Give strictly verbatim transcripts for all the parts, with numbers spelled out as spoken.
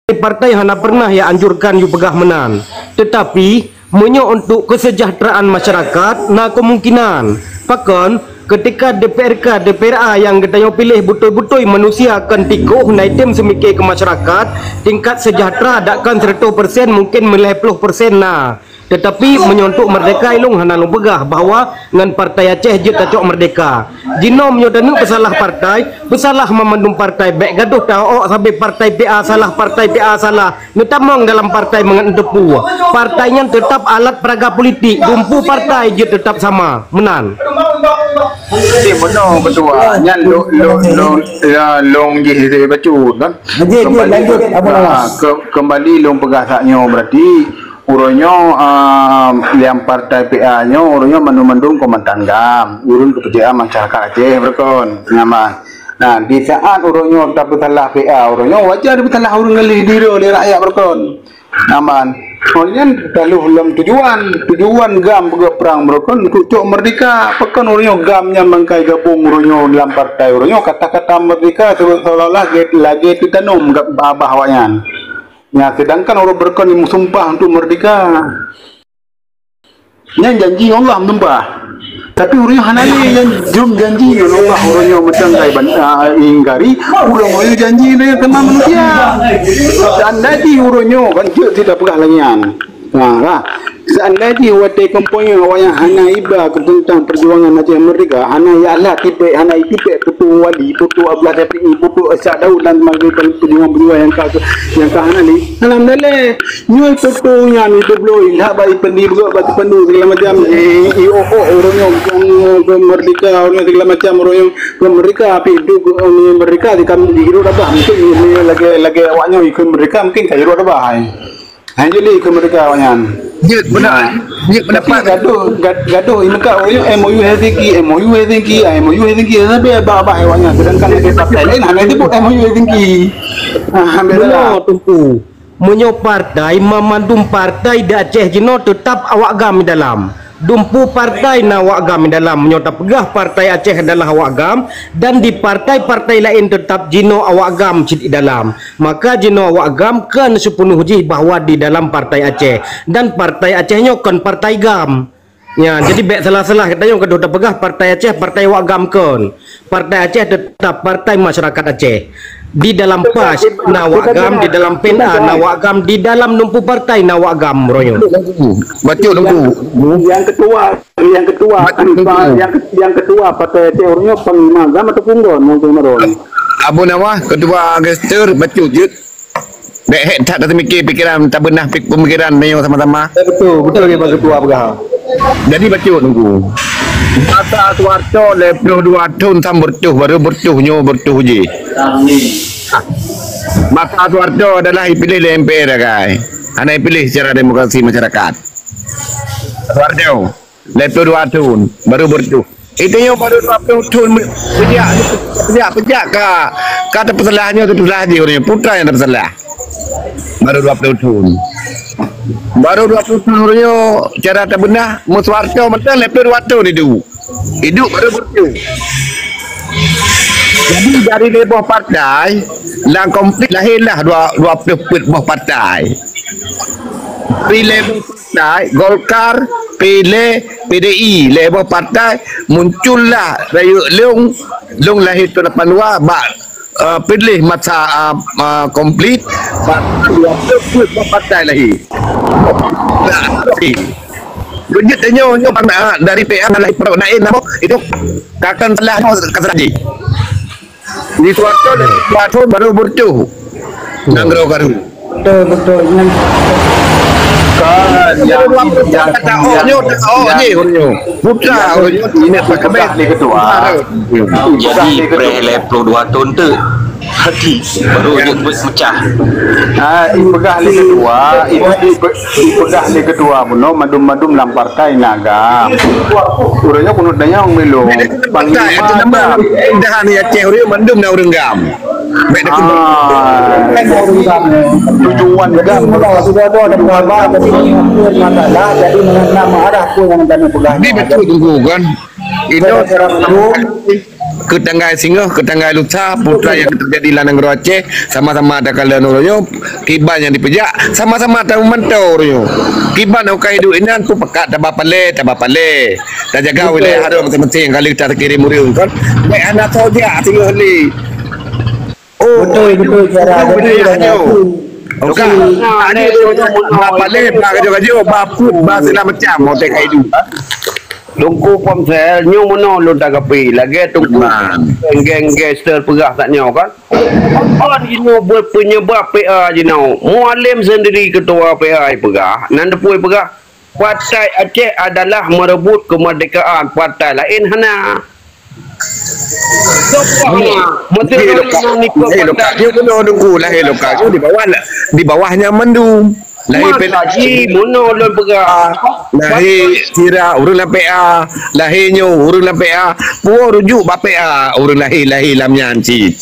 partai-partai hana pernah ya anjurkan yue peugah meunan. Tetapi, meunyoe untuk kesejahteraan masyarakat, na kemungkinan. Pakon, ketika D P R K, D P R A nyang geutanyoe piléh beutôi-beutôi manusia kon tikoh na item seumike keu masyarakat, tingkat sejahtera dakkan seratus persen, mungkin meulhèe ploh persen na. Tetapi meunyoe untuk merdeka ilong hana lôn peugah bahwa ngon partai Aceh jeuet tacok merdeka. Jinoe meunyoe taneuk peusalah partai, peusalah mamandum partai, bèk gadoh taok sabe partai P A salah, partai P A salah. Neutamong dalam partai mangat neuteupeue. Partai nyan teutap alat peraga politik, dumpu partai jeuet teutap sama. Meunan. Jadi meunoe ketua, nyan lôn, lôn, lôn, ya, lôn jih bacut kan. Lanjut, lanjut, lanjut, Abu Nawas. Ah, ke-, kembali lôn peugah saat nyoe berarti Uroe nyoe, ah, lam partai P A nyoe, uroe nyoe mandum-mandum kombatan GAM, ureueng kepercayaan masyarakat Aceh beureukan. Nyaman. Nah, di saat uroe nyoe tapeusalah P A, uroe nyoe wajar tapeusalah ureueng ngaleh diri lé rakyat beureukan. Nyaman. Uroe nyan taluh lom tujuan, tujuan GAM peugah perang beureukan untuk cok merdeka. Pakon uroe nyoe GAM nyan bangkai gabong uroe nyoe lam partai uroe nyoe kata-kata merdeka seolah-olah lagèe, lagèe teutanom bak babah awaknyan. Nya, sedangkan ureueng beureukan meusumpah untuk merdeka. Nyan janji Allah meusumpah. Tapi ureueng nyoe hana lé nyan jeuem janji ngon Allah, ureueng nyoe meutanggai ban-, ah, ingkari, ureueng nyoe janji nyan sama manusia. Dan jadi ureueng nyoe kan jeuet tidak peugah lagi nyan. Ha, ha. Seandai jih watèe komponi awaknyan hana iba keu teuntang peujuangan Aceh Merdeka, hana ialha tipèk, hana itipèk peutuwö Wali, peutuwö Abdullah Syafi'i, peutuwö Ishak Daud dan sebagainya peujuangan-peujuangan nyang ka, nyang ka hana lé. Alhamdulillah, nyoe peutuwö nyan ipeubloe, ilah bak ipendi beugöt bak teupeunuh segala macam, eh, i-, oh, oh, ureueng nyoe, ureueng nyoe merdeka, ureueng nyoe segala macam, ureueng nyoe merdeka, tapi duek, eh, merdeka di kam-, di hirup dah bah, mungkin lagèe, lagèe awak nyoe ikheun merdeka, mungkin ka hirup dah bah, eh. Hai, jadi keu merdeka awaknyan. Jeuet beuna. Nah. Jeuet tapi pendapat. Gadoh, gad-, gadoh imeungka ureueng M O U Helsinki, M O U Helsinki, ah, M O U Helsinki, tapi bah, bah awaknyan. Sedangkan lagèe partai lain, hana disebut M O U Helsinki. Ah, ambil Beuna, salah. Teungku. Meunyoe partai, mamandum partai di Aceh jinoe teutap awak GAM di dalam. Dumpu partai na awak GAM di dalam. Meunyoe tapeugah partai Aceh adalah awak GAM, dan di partai-partai laén teutap jinoe awak GAM cit di dalam. Maka jinoe awak GAM kon sipeunuh jih bahwa di dalam partai Aceh. Dan partai Aceh nyoe kon partai GAM. Nya, jadi bèk salah-salah geutanyoe gadoh tapeugah partai Aceh, partai awak GAM kon. Partai Aceh teutap partai masyarakat Aceh. Di dalam pas na awak GAM, di dalam pen a na awak GAM, di dalam dumpu partai na awak GAM, Royo. Bacut, Teungku. Yang ketua, yang ketua, Bacut, Teungku. Yang ke-, yang ketua partai Aceh Royo panglima GAM ataupun GAM, Teungku Maron? Abu Nawas, ketua gestur, bacut, jeuet. Bèk hèk that taseumike pikeran, tabeunah pik-, pemikiran meunyoe sama-sama. Eh, betul, betul lagi Pak Ketua peugah. Jadi bacut, Teungku. Masa Soeharto lhèe ploh dua thon sam beureutoh, baru beureutoh nyoe beureutoh jih. Masa Soeharto adalah ipiléh lé M P R agai. Hana ipiléh secara demokrasi masyarakat. Soeharto. Lhèe ploh dua thon, baru beureutoh. Itu nyoe baru dua ploh thon, peujak, peujak, peujak ka, ka tapeusalah nyoe, tapeusalah jih ureueng nyoe. Peue nyang tapeusalah. Baru dua ploh thon. Baru dua ploh thon ureueng nyoe, cara tabeunah, meu Soeharto mantong lhèe ploh dua thon iduek. Iduek baru beureutoh. Jadi dari lhèe boh partai, lam konflik lahirlah dua, dua ploh peuet boh partai. Dari lhèe boh partai, Golkar, P D I, P D I, lhèe boh partai, muncullah rayeuk lôn, lôn lahé thon lapan dua bak, eh, piléh masa, eh, eh, konflik, bak dua ploh peuet boh partai lahé. Nah, beujeuet tanyoe nyoe, eh, dari P A lahé Parok Naim, namo itu takkan salah, nyoe ka salah jih. Di Soeharto, Soeharto baru beureutoh. Nanggroe Garut. Betul, betul. Nyan. Kan, yang, yang, yang, yang, putra ureueng nyoe, ini peugah lé ketua. Jadi, preh lhèe ploh dua thon tu. Hati. Baru dia pecah. Ah, ipeugah lé ketua, ipe-, ipe-, ipeugah lé ketua bunoe mandum-mandum lam partai na GAM. Ureueng nyoe keuneuk tanyong milong. Partai, itu nama dah ni Aceh ureueng mandum na ureueng GAM. Baik dah. Ah, tujuan GAM. Sudah ada, sudah ada, ada masalah, jadi mengenai arah pun yang kami pegang. Ini betul, Teungku, kan? Itu secara hukum. Keu tanggai singoh, keu tanggai lusa, peue nyang teujadi lam nanggroe Aceh, sama-sama takalon uroe nyoe, kiban nyang dipeujak, sama-sama tamantong uroe nyoe. Kiban nyang ka hidup inan, peue pakat taba palé, taba palé. Tajaga wilayah hareuem maséng-maséng, ka lheueh takirém ureueng kon. Bèk hana soe jak singoh lé. Oh, betul, betul, cara. Jadi, hanya tu. Okey. Nah, ada ni, tu, tu, tu, tu, bak palé, bak kajoh-kajoh, bak put, bak segala macam, otak ka hidup. Teungku Ponsel, nyoe meunoe lôn tanggapi, lagèe Teungku geng-geng gangster peugah that nyoe kan. Kon jinoe buet penyebab P A jinoe. Mualem sendiri ketua P A peugah, nan teupeu peugah, partai Aceh adalah merebut kemerdekaan, partai laén hana. Soe peugah hana? Meuteumé lokal, lahé lokal. Nyoe meunoe Teungku, lahé lokal. Nyoe di bawah, di bawah nyan mandum. Lahé P A. Maka jih meunoe lôn peugah. Lahé sira ureueng lam P A, lahé nyoe ureueng lam P A, puwoe rujuk bak P A ureueng lahé, lahé lam nyan cit.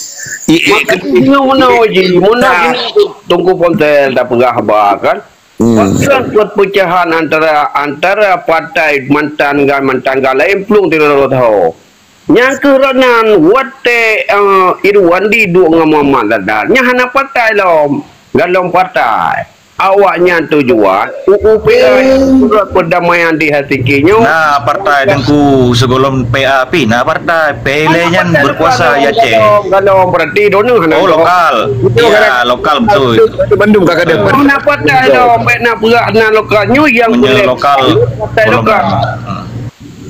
Maka jih nyoe meunoe jih, meunoe jih Teungku Ponsel tapeugah haba kan. Hmm. Pakon perpecahan antara, antara partai mantan ngon mantan ngon laén plueng sidroe-droe sahoe. Nyang keuh roh nyan watèe, eh, Irwandi duek ngon Muhammad Zadar, nyan hana partai lom, golom partai. Awaknyan tujuan U U P A, Pusat Perdamaian di Helsinki nyoe. Na partai Teungku, sigohlom P A pih na partai, P L A nyan berkuasa di Aceh. Golom, golom, berarti droeneuh hana. Oh, lokal. Ya, lokal betul. Bandum ka kadang. Hana partai lom, bèk na peugah na lokal. Nyoe nyang lokal, partai lokal. Golom.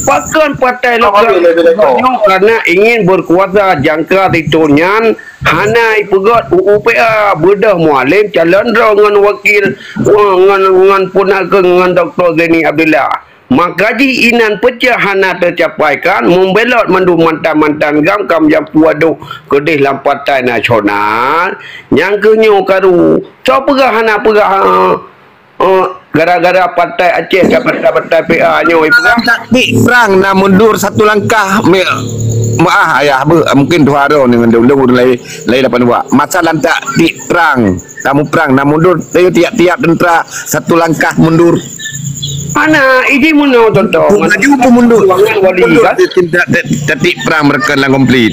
Pakon partai lokal nyoe karena ingin berkuasa jangka situ nyan hana ipeugöt U U P A, beudôh Mualem calon droe ngon wakil, ngon, ngon peunakeue ngon Doktor Zaini Abdullah. Maka jih inan peucah hana teucapaikan, meubelot mandum mantan-mantan GAM ka meujampu adoh keudeh lam Partai Nasional, nyang keuh nyoe karu. Soe peugah hana peugah, eh, Oh, gara-gara partai Aceh ka partai-partai P A nyoe, ipeugah. Taktik perang na mundur satu langkah, me-, maah ayah, beu, mungkin tuha droe ngon dong-dong ureueng lain, lain lapan dua. Masa lantak tik perang, tamu perang na mundur, tiap-tiap tentera satu langkah mundur. Mana iji meunoe contoh? Maju pun mundur. Perjuangan wali, mundur kan? Taktik perang mereka dalam konflik.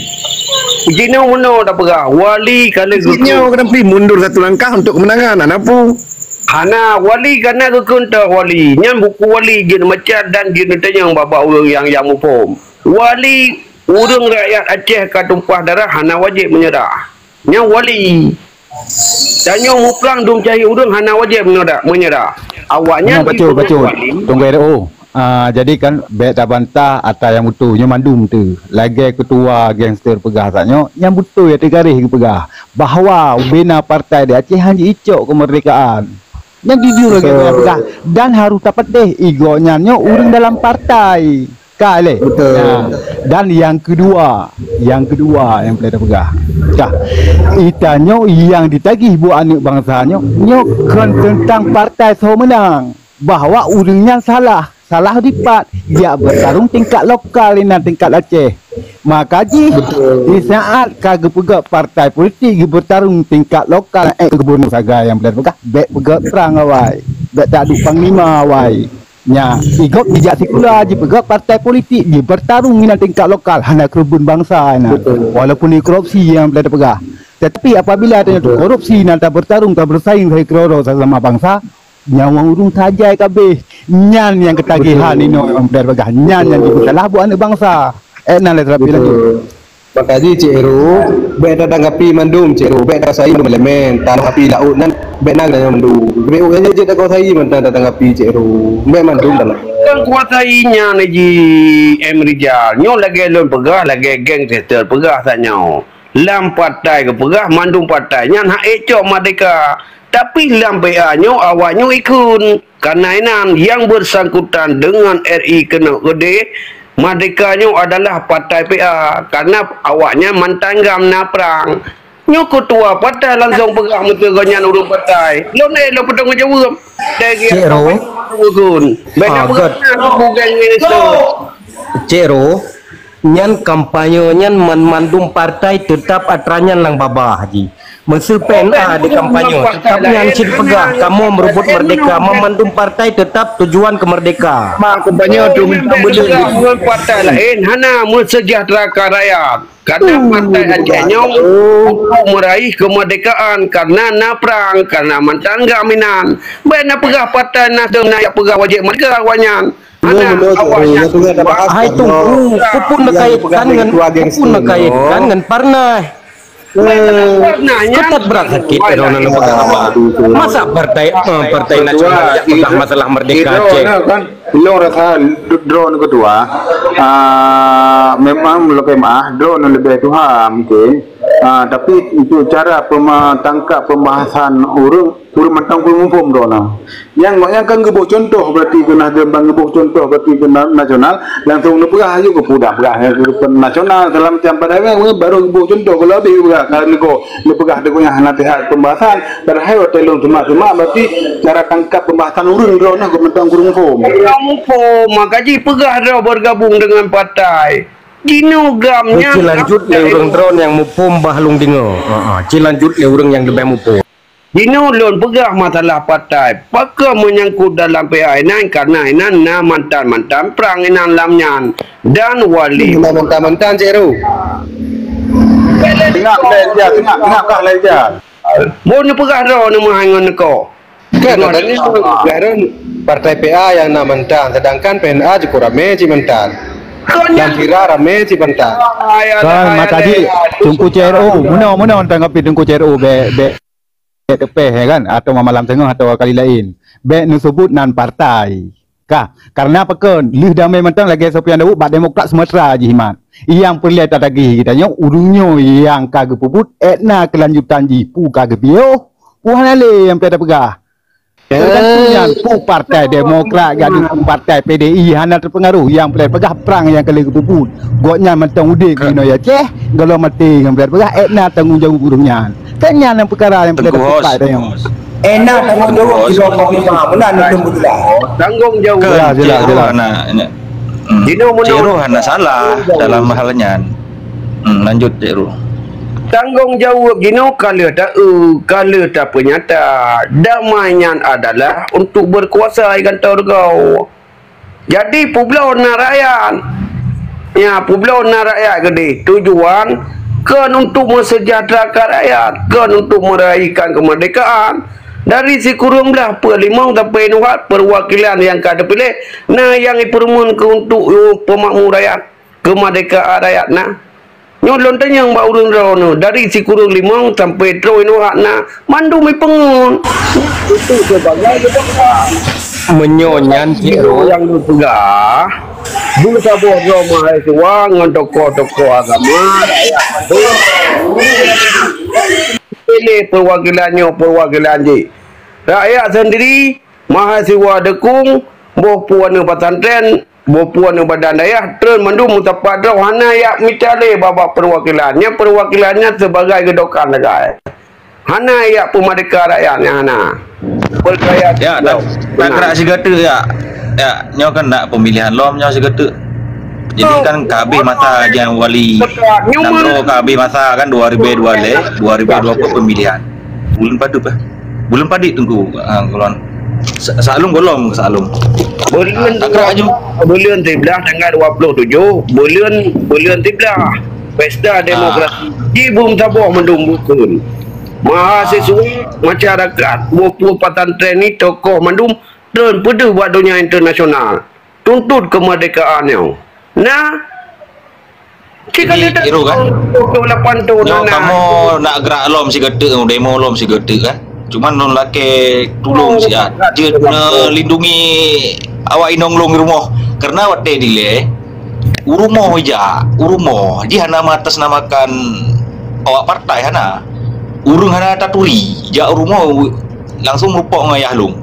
Iji nyoe meunoe dah peugah, wali kalau iji nyoe kena pergi mundur satu langkah untuk kemenangan. Ana pu? Hana, wali kana geukheun teuh wali. Nyan buku wali jeuet macam dan jeuet neutanyong bak-bak ureueng nyang, nyang muphom. Wali, ureueng rakyat Aceh ka tumpah darah hana wajéb meunyeurah. Nyan wali. Tanyoe muprang dum cahé ureueng hana wajéb meunyeurah, meunyeurah. Awaknyan bacut, bacut. Tunggu R O. Ah, jadi kan bèk tabantah ata nyang beutôi nyoe mandum tu. Lagèe ketua gangster peugah saat nyoe, nyang beutôi ata garéh geupeugah bahwa ubena partai di Aceh hana icok kemerdekaan. Nyang jujur lagèe nyan peugah dan harôh tapatéh igoe nyan nyoe ureueng dalam partai. Ka lé. Betul. Nah, dan nyang keudua, nyang keudua nyang peureulèe tapeugah. Dah. Ita nyoe nyang ditagih buet aneuk bansa nyoe, nyoe kon teuntang partai soe meunang. Bahwa ureueng nyan salah, salah dipat, jak beutarông tingkat lokal inan tingkat Aceh. Maka jih, di saat ka geupeugöt partai politik geubeutarông tingkat lokal, eh, gubernur sagai nyang beulat peugah, bèk peugöt prang awai, bèk taduek panglima awai. Nya, igob jijak sikula jipeugöt partai politik, jibeutarông inan tingkat lokal, hana keureubeuen bansa inan. Walaupun di korupsi nyang beulat peugah. Tetapi apabila tanyoe korupsi inan tabeutarông, tabeusaing hai keudroe-droe sesama bansa, Nyawa ureueng tajai kabeh. Nyan nyang keutagihan inoe Ampler bagah. Nyan nyang jipeusalah buet aneuk bansa. Eh, na lé terapi laju. Betul. Maka jih Cik Ru, bèk tatanggapi mandum Cik Ru, bèk takuasai mandum elemen, tanoh api laôt nyan bèk na geutanyoe mandum. Bèk ureueng jeuet takuasai mantong tatanggapi Cik Ru, bèk mandum tanoh. Kan kuasai nyan jih M Rijal. Nyoe lagèe lôn peugah, lagèe geng Tester peugah tanyoe. Lam partai geupeugah mandum partai nyan hak ék cok merdeka. Tapi lam P A nyoe awak nyoe ikheun. Kareuna inan nyang beusangkutan deungon R I keunoe keudeh, merdeka nyoe adalah partai P A, kareuna awak nyan mantan GAM na prang. Nyoe keutua partai langsong peugah meuteugah nyan ureueng partai. Lôn ék lôn peutanggung jaweueb. Cik Ro. Ikheun. Bèk na peugah bukan minister. Cik Ro, nyan kampanye nyan man-, mandum partai teutap atra nyan lam babah jih. Meuseu P N A di kampanye, teutap nyan cit peugah, kamoe meureubot merdeka, meumandum partai teutap tujuan keu merdeka. Kampanye tu ngon partai laén hana meuseujahteurakan rakyat. Karena partai Aceh nyoe untuk meraih kemerdekaan, karena na prang, karena mantong geuminan. Bèk na peugah partai Nasdem na jak peugah wajéb merdeka awaknyan. Hana, awaknyan. Hai Teungku, peue na kaitkan ngon, peue na kaitkan ngon partai? Partai nyan. Keutat brat sakét droeneuh lôn peugah haba. Masa partai, eh, partai nasional jak peugah masalah merdeka Aceh? Ilong rasa droeneuh keudua, ah, memang leubeh maah droeneuh leubeh tuha mungkin. Ah, tapi untuk cara pema-, tangkap pembahasan ureueng, ureueng mantong ureueng muphom droeneuh. Nyang, nyang kan geuboh contoh berarti keu Nasdem, ban geuboh contoh berarti keu na-, nasional, langsung neupeugah aju keu peue dah peugah keu nasional segala macam, padahai baru geuboh contoh, kalau habéh peugah ka neuko, neupeugah deungon hana sihat pembahasan, padahai watèe lôn semak-semak berarti cara tangkap pembahasan ureueng droeneuh keu mantong ureueng muphom. Ureueng muphom, maka jipeugah droe bergabung dengan partai. Jinoe gam nyan. Cilanjut lé ureueng droeneuh nyang muphom bah lôn deungoe. Ha, ha, cilanjut lé ureueng nyang leubeh muphom. Jinoe lôn peugah masalah partai, pakon meunyangkot dalam P A inan, karena inan na mantan-mantan prang inan lam nyan dan wali. Na mantan-mantan, Cek Ru. Tengok, tengok, tengok, tengok kah lai dia. Bon neupeugah droe neumeuhai ngon neuko. Kan, katanya partai P A nyang na mantan, sedangkan P N A cukup ramé cit mantan. Dan Sira ramé cit mantan. Kan, maka jih, Teungku C R O, meunoe, meunoe tanggapi Teungku C R O, bèk, bèk. Teupeh, ya kan, atawa malam teungoh atawa kali laén. Bèk neuseubut nan partai. Kah, karena pakon, lheueh damé mantong lagèe Sofyan Daud bak Demokrat Sumatera jimat. Nyang peureulèe tatagih geutanyoe, ureueng nyoe nyang ka geupeubuet, ék na keulanjutan jih, peue ka geupiôh, peue hana lé nyang peureulèe tapeugah. Teugantung nyan, peue Partai Demokrat, gadôh peue Partai P D I hana teupeungaruh, nyang peureulèe peugah prang nyang ka lheueh geupeubuet. Gobnyan mantong udép di inoe Aceh, gohlom maté nyang peureulèe peugah, ék na tanggông jaweueb ureueng nyan. Kan nyan nyang peukara nyang peureulèe tapeugah tanyoe. Ék na tanggông jaweueb sidroe panglima, meunan neuteum beutulah. Tanggông jaweueb. Jelas, jelas, jelas. Cik Roh hana, hmm. Cik Roh hana salah dalam hal nyan. Hmm, lanjut, Cik Roh. Tanggông jaweueb jinoe ka lheueh ta-, ka lheueh tapeunyata. Damai nyan adalah untuk berkuasa di kantô rugoe. Jadi, peubloe na rakyat. Ya, peubloe na rakyat keudeh. Tujuan kon untuk meusejahterakan rakyat, kon untuk meraihkan kemerdekaan. Dari sikureueng blah peuet limong sampai nuhat perwakilan nyang ka teupiléh, na nyang jipeurumeun keu untuk, eh, peumakmu rakyat, keumerdekaan rakyat na. Nyoe lôn tanyong bak ureueng droeneuh, dari sikureueng limong sampai troh inoe hak na, mandum jipeungeut. Itu sebagai kebenaran. Meunyoe nyan, Cik Roh. Nyang lôn peugah, beusaboh droe mahasiswa ngon tokoh-tokoh agama, rakyat mandum. Piléh perwakilan nyoe, perwakilan jih. Rakyat sendiri, mahasiswa deukong, boh pue aneuk pesantren, boh pue aneuk badan dayah, treun mandum meusapat droe hana jak mita lé bak-bak perwakilan. Nyan perwakilan nyan sebagai geudokan sagai. Hana jak peumerdeka rakyat nyan hana. Percaya. Ya, tak, tak gerak sigoe teuk, ya. Ya, nyoe kan nak pemilihan lom nyoe sigoe teuk. Jadi kan ka habéh masa nyang wali nanggroe ka habéh masa kan dua ribu dua puluh, dua ribu dua puluh pemilihan. Buleuen padub, eh? Buleuen padub Teungku, ah, gohlom. Sa-, Saklum gohlom, Saklum. Buleuen, ah, takrak aju. Buleuen siblah tanggal dua puluh tujuh, buleuen, buleuen siblah. Pesta demokrasi. Ji beusaboh mandum bukon. Mahasiswa, masyarakat, boh pue pesantren ni tokoh mandum treun peudeuh bak donya internasional. Tuntut kemerdekaan nyoe. Nah, Jadi, Iro kan? Nyoe kamoe nak gerak lom sigoe teuk, demo lom sigoe teuk kan. Cuman lôn lakèe tulông siat. Jeuet neulindungi awak inong lôn di rumoh. Karena watèe dilèe, u rumoh ijak, u rumoh. Jih hana mengatasnamakan awak partai hana. Ureueng hana taturi, jak u rumoh langsung meureumpok ngon ayah lôn.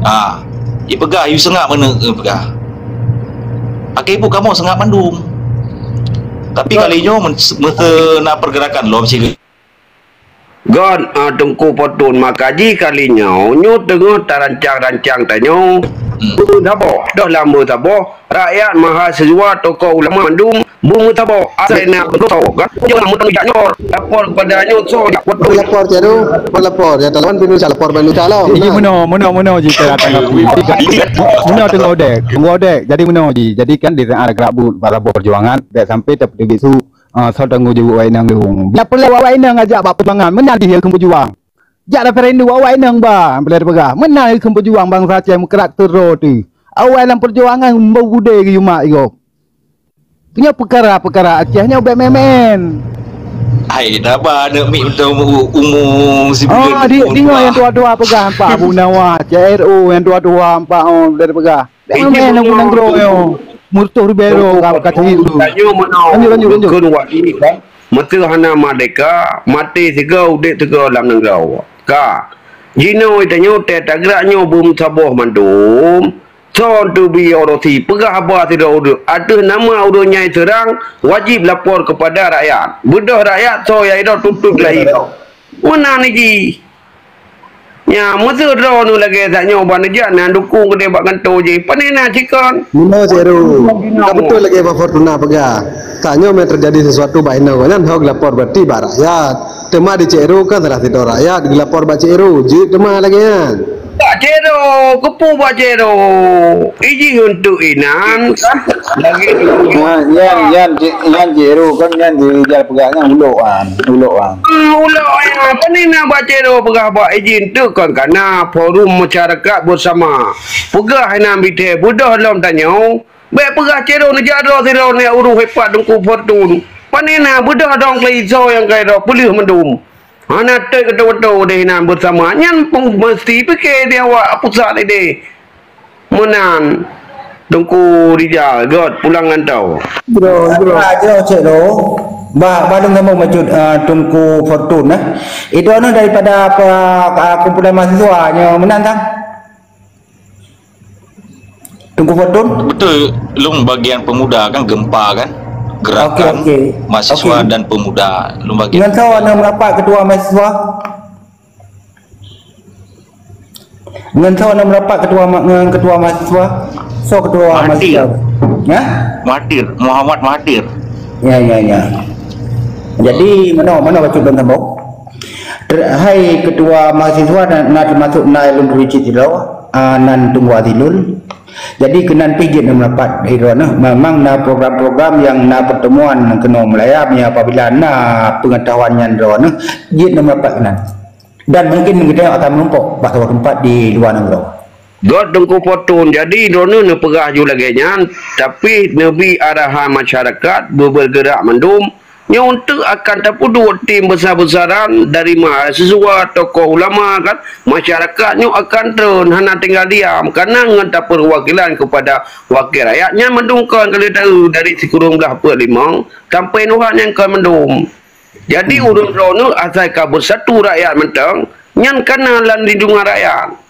Ha, ipeugah, "Yue seungab meuneuk," ipeugah. Akhé buet kamoe seungab mandum. Tapi kali nyoe men-, meuseu na pergerakan lom sigoe. Gon, ah, Teungku Potun, maka jih kali nyoe, nyoe teungoh tarancang-rancang tanyoe, Hmm. Beumeusaboh. Dah lam beumeusaboh, rakyat, mahasiswa, tokoh ulama mandum beumeusaboh. Asai na beutôi kan? Jangan meuteujak nyoe. Lapor kepada nyoe, so jak foto. Lapor, Cik Ru. Lapor, lapor. Ya, lawan pih Indonesia, lapor bak Indonesia lah. Jadi, meunoe, meunoe, meunoe jih cara tanggapi. Meunoe teungoh dek, teungoh dek. Jadi, meunoe jih. Jadi, kan, di saat gerak bu-, bak saboh perjuangan, dek sampai teupeubiet su, ah, soe tanggong jaweueb awak inong dong. Nyak peureulée awak inong ajak bak perjuangan. Meunan jih kheun peujuang. Jak referendum awak inong ba, boleh dipeugah. Meunan kheun peujuang bansa Aceh meukeurah teuroe teuh. Awai lam perjuangan beu gudée geuyue mak igop. Nyoe peukara-peukara Aceh nyoe bék meuén-meuén. Hai, haba aneuk miet mantong umu, umu sibuleuen. Oh, di, deungoe nyang tuha-tuha peugah, Pak Abu Nawas, C R O nyang tuha-tuha, Pak, oh, dari peugah. Bék meuén-meuén lam nanggroe nyoe. Murtoh ribèe droe ka, ka cit tu. Lanjut, lanjut, lanjut. Kheun wak ini kan. Meuseu hana merdeka, maté sigoe, udép sigoe lam nanggroe. Ka. Jinoe tanyoe teuh tagrak nyoe beumeusaboh mandum. Soe teubi orosi peugah haba sidroe ureuëng ateueh nama ureuëng nyang jiseurang, wajéb lapor keupada rakyat. Beudôh rakyat soe nyang jidroe tuntut lagée nyoe. Meunan jih. Nya, meuseu droeneuh lagée that nyoe ban neujak na dukung keudeh bak kantô jih. Pane na cikon? Meunoe, Cik Ru. Ka beutôi lagée Bah Fortuna peugah. Tanyoe meuteujadi sesuatu bak inong nyan, ho geulapor berarti bak rakyat. Teuma di Cik Ru kan salah sidroe rakyat geulapor bak Cik Ru, jeuet teuma lagée nyan. Bak Cik Ru, keupeue bak Cik Ru? Ijih untuk inan kan? Lagi dukung. Nyan, nyan, nyan, Cik, nyan Cik Ru kan nyan di Rijal peugah nyan ulok an, ulok an. Ah, ulok an. Pane na bak Cik Ru peugah bak ijih untuk kon kana forum masyarakat bersama. Peugah inan bithée beudôh lom tanyoe. Bék peugah Cik Ru neujak droe sidroe nyan ureuëng hebat Teungku Fortun. Pane na beudôh dong keulisoe nyang kai droe peuleueh mandum. Hana teuk keutoe-keutoe deh inan beusama. Nyan pun meusti pike di awak pusat ideh. Meunan Teungku Rijal, göt pulang ngon tau. Jroh, jroh. Ah, jroh, Cik Ro. Bah, bah lôn sambông bacut, ah, Teungku Fortun, eh. Itu anu daripada apa, ah, kumpulan mahasiswa nyoe meunan, Tang? Teungku Fortun? Betul, lôn bagian pemuda kan, gempa kan? Gerakan mahasiswa dan pemuda. Lôn bagian. Ngon soe na meurapat ketua mahasiswa? Ngon soe na meurapat ketua ma-, ngon ketua mahasiswa? Soe ketua mahasiswa? Mahathir. Ya? Mahathir, Muhammad Mahathir. Ya, ya, ya. Jadi, mana, mana bacut lôn sambông? Ter-, hai ketua mahasiswa na, na teumasuk na lôn turi cit sidroe, ah, nan Teungku Azilul. Jadi keunan pih jeuet na meurapat sidroe nyoe. Memang na program-program nyang na pertemuan keunoe meulaya, meunyo apabila na peungeutahuan nyan droe nyoe, jeuet na meurapat keunan. Dan mungkin geutanyoe akan meurumpok bak saboh teumpat di luwa nanggroe. Göt Teungku Fortun, jadi droeneuh neupeugah ju lagée nyan, tapi neubi arahan masyarakat beubeugerak mandum, nyoe teuk akan tapeuduek tim besar-besaran dari mahasiswa, tokoh ulama kan, masyarakat nyoe akan treun hana tinggal diam, karena ngon tapeuwakilan kepada wakil rakyat nyan mandum kon ka lheueh taeu dari sikureueng blaih peuet limong sampai nuhat nyan kon mandum. Jadi ureuëng droeneuh asai ka beusatu rakyat mantong, nyan kana lam lindungan rakyat.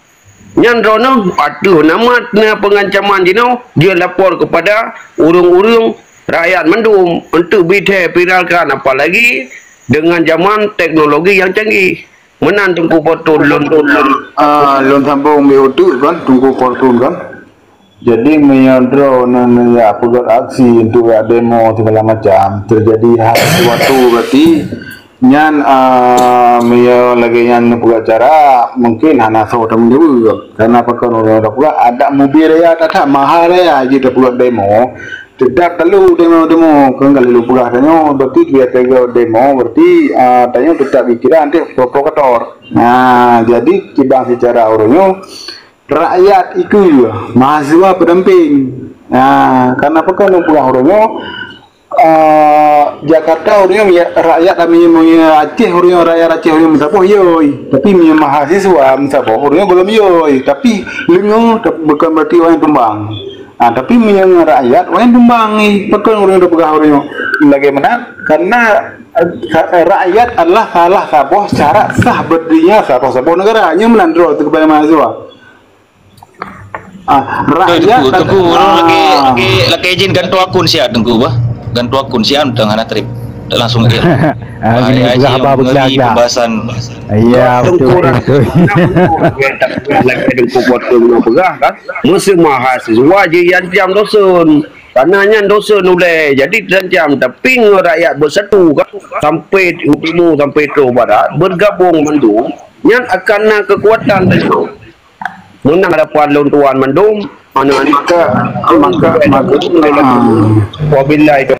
Nyan droeneuh ateueh nama na pengancaman jinoe jeuet lapor kepada ureuëng-ureuëng rakyat mandum untuk bithée viralkan, apalagi dengan zaman teknologi yang canggih. Meunan Teungku Fortun lôn. Ah, lôn sambông bak uteuk kan, Teungku Fortun kan. Jadi meunyoe droeneuh neujak peugét aksi untuk jak demo segala macam, terjadi hal sesuatu berarti nyan, ah, meunyoe lagée nyan neupeugah cara, mungkin hana soe tameudeue. Karena pakon ureuëng ka peugah adat mubi raya that-that maha raya jih tapeugét demo. Tetap talu demo-demo, kon ka lheueh lôn peugah tanyoe, berarti biasa demo, berarti, ah, tanyoe tetap dikira nanti provokator. Nah, jadi kiban secara ureuëng nyoe, rakyat ikeue, mahasiswa pendamping. Nah, karena pakon lôn peugah ureuëng nyoe, ah, Jakarta ureuëng nyoe, rakyat kami meunyoe Aceh ureuëng nyoe, rakyat Aceh ureuëng nyoe meusaboh, yoi. Tapi meunyoe mahasiswa meusaboh, ureuëng nyoe gohlom yoi. Tapi leungoe, bukan berarti awaknyan tumbang. Ah, tapi meunyoe rakyat, awaknyan tumbang, eh, pakon ureuëng tapeugah ureuëng nyoe lagée meunan? Karena, eh, rakyat adalah salah saboh syarat sah berdirinya saboh-saboh negara. Nyoe meunan droe teuh keupada mahasiswa. Ah, rakyat, Teungku, Teungku, ureuëng lagi, lagi, lagi izin gantoe akun siat, Teungku, bah. Gantoe akun siat, teuh hana trip. Langsung dia. Ah, ini peugah haba beuglah. Pembahasan. Ya, betul, betul. Lagi dengku potong peugah kan. Meuseu mahasiswa jiancam dosen. Karena nyan dosen ulée. Jadi terancam, tapi ngon rakyat beusatu kan. Sampai timu sampai troh barat bergabung mandum. Nyan akan na kekuatan tadi. Menang hadapan lôn tuan mandum. Mana maka maka maka wabillahi